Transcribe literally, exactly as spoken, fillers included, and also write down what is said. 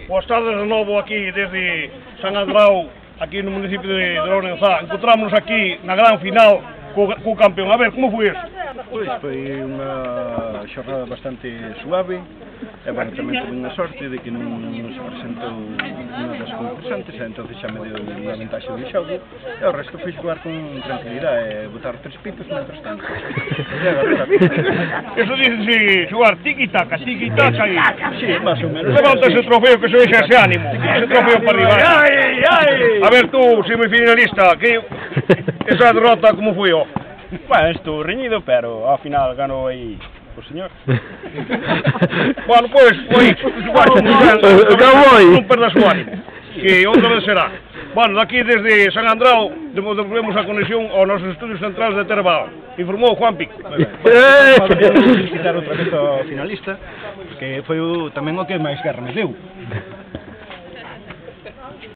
Boas tardes de novo aquí desde San Andrau, aquí no municipio de Lourenzá. Encontrámonos aquí na gran final co, co campeón. A ver, como foi isto? Pois foi unha xornada bastante suave e, bueno, tamén tuve unha sorte de que non se presentou unha das concursantes e entón xa me deu unha ventaxe de xogo e o resto foi xogar con tranquilidade e botar tres pitos mentras tanto. Eso dice xogar tiki-taka, tiki-taka e... Sí, máis ou menos. Levanta ese trofeo que se deixa ese ánimo, ese trofeo para arriba. Ai, ai! A ver tú, semifinalista, que esa derrota como foi, ó? Bueno, estou reñido, pero ao final ganou aí o señor. Bueno, pois, foi, non perdas o ánimo, que outra vez será. Bueno, daqui desde San Andrau, devolvemos a conexión aos nosos estudios centrais de Terbao. Informou Juan Pico. Podemos felicitar outra vez ao finalista, que foi tamén o que máis guerra me deu.